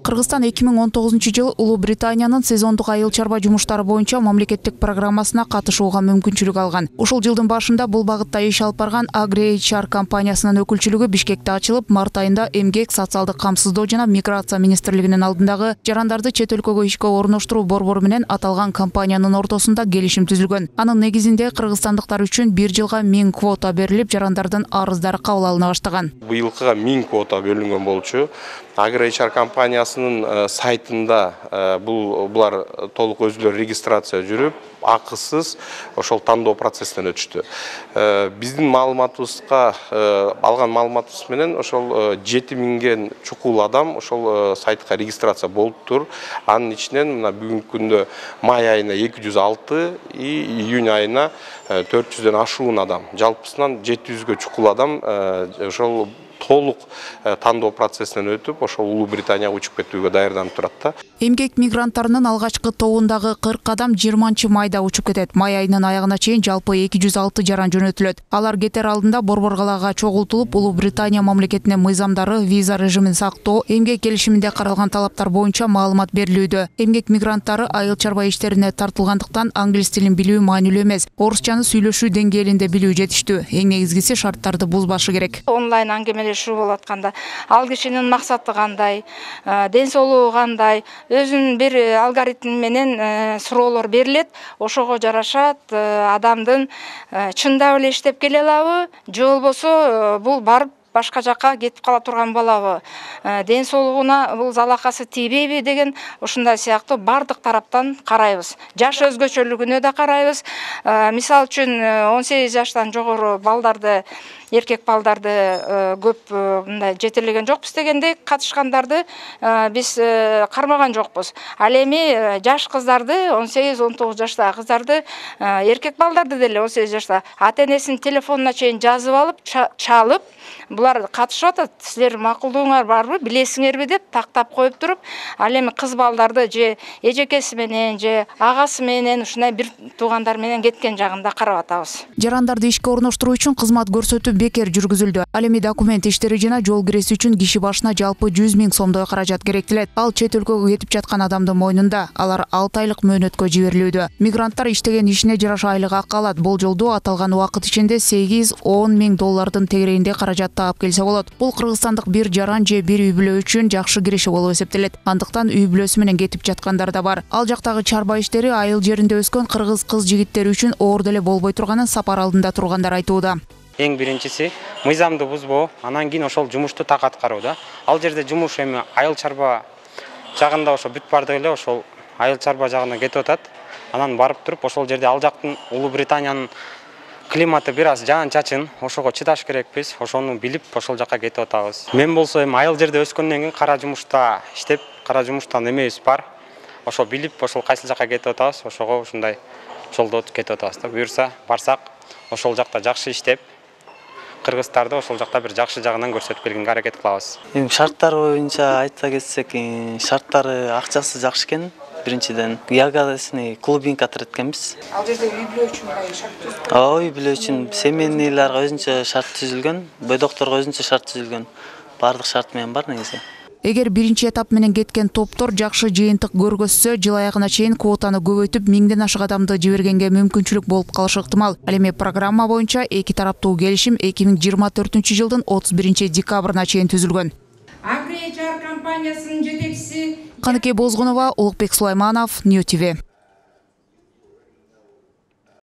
Кыргызстан 2019 жылы Улуу Британиянын сезондук айыл чарба жумуштары боюнча мамлекеттик программасына катышууга мүмкүнчүлүк алган. Ушул жылдын башында бул багытта иш алып барган AgriHR компаниясынын өкүлчүлүгү Бишкекте ачылып, март айында Эмгек, социалдык камсыздоо жана миграция министрлигинин алдындагы жарандарды чет өлкөгө ишке орноштуруу борбору менен аталган компаниянын ортосунда келишим түзүлгөн. Анын негизинде кыргызстандыктар үчүн 1 жылга 1000 квота берилип, жарандардын арыздары кабыл алына баштаган. Быйылкыга 1000 квота бөлүнгөн болчу. AgriHR компаниясынын сайтында булар толук өзүлөрү регистрация жүрүп, акысыз ошол тандоо процессинен өтүштү. Биздин маалыматыбызга алган маалыматыбыз менен ошол 7000ге чукул адам ошол сайтка регистрация болуптур. Анын ичинен мына бүгүнкү күндө май айына 206 и июнь айына 400дөн ашуун адам. Жалпысынан 700ге чукул адам ошол толук тандоо процессинен өтүп, ошол Улуу Британияга учуп кетүүгө даярданып турат да. Эмгек мигранттарынын алгачкы тобундагы 40 адам 20-майда учуп кетет. Май айынын аягына чейин жалпы 206 жаран жөнөтүлөт. Алар кетер алдында борбор калаага чогултулуп, Улуу Британия мамлекетинин мыйзамдары, виза режимин сактоо, эмгек келишиминде каралган талаптар боюнча маалымат берилүүдө. Эмгек мигранттары айыл чарба иштерине тартылгандыктан англис тилин билүү маанилүү эмес. Орусчаны сүйлөшүү деңгээлинде билүү жетиштүү. Эң негизгиси шарттарды бузбашы керек. Онлайн аңгемелешүү болуп атканда, ал кишинин максаты кандай, ден соолугу кандай, өзүнүн бир алгоритм менен суроолор берилет. Ошого жарашат адамдын чындап эле иштеп келе алабы, же болбосо бул барып башка жакка кетип кала турган болобу, ден соолугуна бул залакасы тийбейби деген ушундай сыяктуу бардык тараптан карайбыз. Жаш өзгөчөлүгүнө да карайбыз. Мисалы үчүн 18 жаштан жогору балдарды, эркек балдарды көп мындай жетелеген жокпуз дегендей, катышкандарды биз кармаган жокпуз. Ал эми жаш кыздарды, 18-19 жаштагы кыздарды, эркек балдарды деле 18 жашта ата-энесинин телефонуна чейин жазып алып, чалып, булар катышып атат, силер макулдугуңар барбы, билесиңерби деп тактап коюп туруп, ал эми кыз балдарды же эжекеси менен, же агасы менен, ушундай бир туугандар менен кеткен жагында карап атабыз. Жарандарды ишке орноштуруу үчүн кызмат көрсөтүү бекер жүргүзүлдү. Ал эми документ иштери жана жол киреси үчүн киши башына жалпы 100 000 сомдой каражат керектелет. Ал чет өлкөгө кетип жаткан адамдын мойнунда. Алар 6 айлык мөөнөткө жиберилүүдө. Мигранттар иштеген ишине жараша айлык акы алат. Болжолдуу аталган убакыт ичинде 8-10 000 доллардын тегерегинде каражат таап келсе болот. Бул кыргызстандык бир жаран же бир үй бүлө үчүн жакшы киреше болуп эсептелет. Андыктан үй бүлөсү менен кетип жаткандар да бар. Ал жактагы чарба иштери айыл жеринде өскөн кыргыз кыз жигиттери үчүн оор деле болбой турганын сапар алдында тургандар айтууда. Эң биринчиси мыйзамды бузбоо, анан кийин ошол жумушту так аткаруу да. Ал жерде жумуш эми айыл чарба жагында ошо бүт бардыгы эле ошол айыл чарба жагына кетип атат. Анан барып туруп ошол жерде ал жактын Улуу Британиянын климаты бир аз жаан-чачын, ошого чыдаш керекпиз. Ошону билип ошол жакка кетип атабыз. Мен болсо эми айыл жерде өскөндөн кийин кара жумушта иштеп, кара жумуштан эмебиз бар. Ошо билип ошол кайсыл жакка кетип атабыз, ошого ушундай жолдо кетип атабыз да. Буюрса барсак, ошол жакта жакшы иштеп, кыргыздарды ошол жакта бир жакшы жагынан көрсөтүп келгенге аракет кылабыз. Эми шарттар боюнча айта кетсек, шарттары акчасы жакшы экен. Биринчиден ягодасыны клубинка эткенбиз. Ал жерде үй бүлө үчүн шарт түзүлгөн. Үй бүлө үчүн семейныйларга өзүнчө шарт түзүлгөн, бойдокторго өзүнчө шарт түзүлгөн. Бардык шарт менен бар негизи. Эгер биринчи этап менен кеткен топтор жакшы жыйынтык көргөзсө, жыл аягына чейин квотаны көбөйтүп 1000ден ашык адамды жибергенге мүмкүнчүлүк болуп калышы ыктымал. Ал эми программа боюнча эки тараптуу келишим 2024-жылдын 31-декабрына чейин түзүлгөн. AgriHR компаниясынын жетекчиси Каныкей Бозгунова, Улукбек Сулайманов, Нью ТВ.